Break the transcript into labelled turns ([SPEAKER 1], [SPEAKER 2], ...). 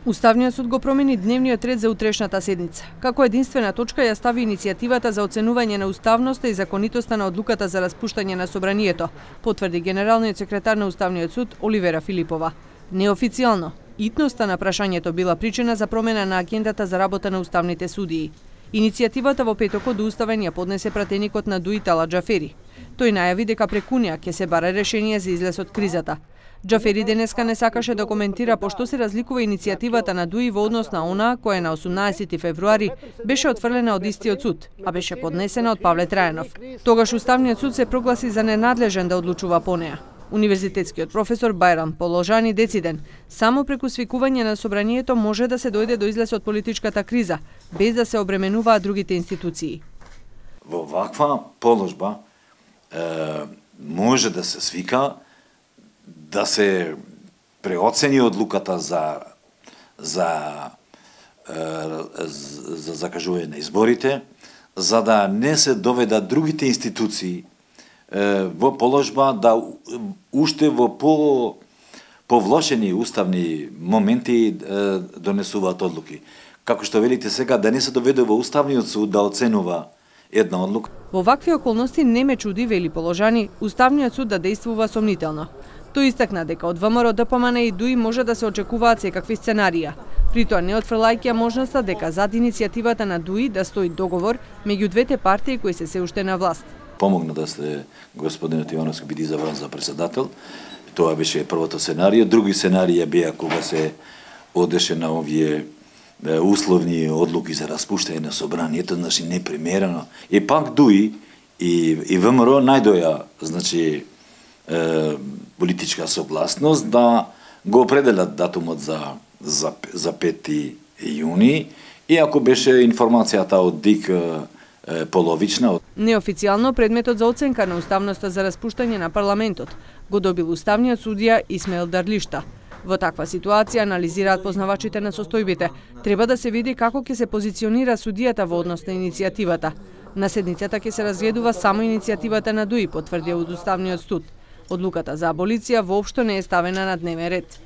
[SPEAKER 1] Уставниот суд го промени дневниот ред за утрешната седница. Како единствена точка ја стави иницијативата за оценување на уставноста и законитоста на одлуката за распуштање на собранието, потврди генералниот секретар на Уставниот суд Оливера Филипова. Неофицијално, итноста на прашањето била причина за промена на агендата за работа на уставните судии. Иницијативата во петокот до Уставен ја поднесе пратеникот на ДУИ Талат Џафери. Тој најави дека прекунија ќе се бара решение за излез од кризата. Џафери денеска не сакаше да коментира пошто се разликува иницијативата на ДУИ во однос на она која на 18 февруари беше отфрлена од истиот суд, а беше поднесена од Павле Трајанов. Тогаш Уставниот суд се прогласи за ненадлежен да одлучува по неа. Универзитетскиот професор Бајрам Положани дециден, само преку свикување на собранието може да се дојде до излез од политичката криза, без да се обременуваат другите институции.
[SPEAKER 2] Во ваква положба може да се свика, да се преоцени одлуката за закажување на изборите, за да не се доведат другите институции во положба да уште во повлошени уставни моменти донесуваат одлуки. Како што велите сега, да не се доведе во Уставниот суд да оценува една одлука.
[SPEAKER 1] Во вакви околности не ме чуди, вели Положани, Уставниот суд да действува сомнително. Тој истакна дека од ВМРО, ДПМН и ДУИ може да се очекуваат секакви сценарија. При тоа не отфрлајќи можноста дека зад иницијативата на ДУИ да стои договор меѓу двете партии кои се уште на власт.
[SPEAKER 2] Помогна да се господинот Ивановски биде избран за председател. Тоа беше првото сценарио. Други сценарија беа кога се одеше на овие условни одлуки за распуштање на собранието, значи непримерено. И пак ДУИ и ВМРО најдоја, значи, политичка согласност да го определат датумот за 5 јуни, иако беше информацијата од ДИК половична.
[SPEAKER 1] Неофицијално предметот за оценка на уставноста за распуштање на парламентот го добил уставниот судија Исмаил Дарлишта. Во таква ситуација, анализираат познавачите на состојбите, треба да се види како ќе се позиционира судијата во однос на иницијативата. На седницата ќе се разгледува само иницијативата на ДУИ, потврдија од Уставниот суд. Одлуката за аболиција воопшто не е ставена на дневен ред.